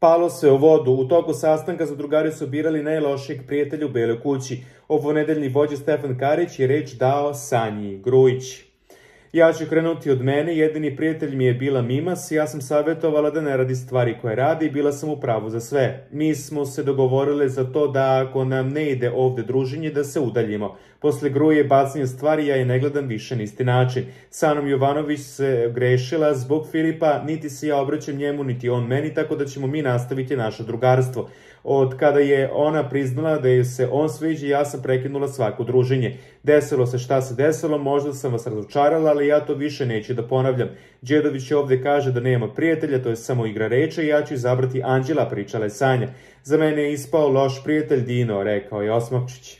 palo sve u vodu. U toku sastanka zadrugari su birali najlošijeg prijatelja u Beloj kući. Ovonedeljni vođa Stefan Karić je reč dao Sanji Grujić. Ja ću krenuti od mene, jedini prijatelj mi je bila Mimas, ja sam savjetovala da ne radi stvari koje radi i bila sam u pravu za sve. Mi smo se dogovorili za to da ako nam ne ide ovde druženje, da se udaljimo. Posle Gruje bacanja stvari ja je ne gledam više na isti način. Sanom Jovanović se grešila zbog Filipa, niti se ja obraćam njemu, niti on meni, tako da ćemo mi nastaviti naše drugarstvo. Od kada je ona priznala da je se on sviđa, ja sam prekinula svako druženje. Desilo se šta se desilo, možda sam vas razočarala, ali ja to više neću da ponavljam. Đedović ovde kaže da nema prijatelja, to je samo igra reče i ja ću izabrati Anđela, pričala je Sanja. Za mene je ispao loš prijatelj Dino, rekao je Osmavčić.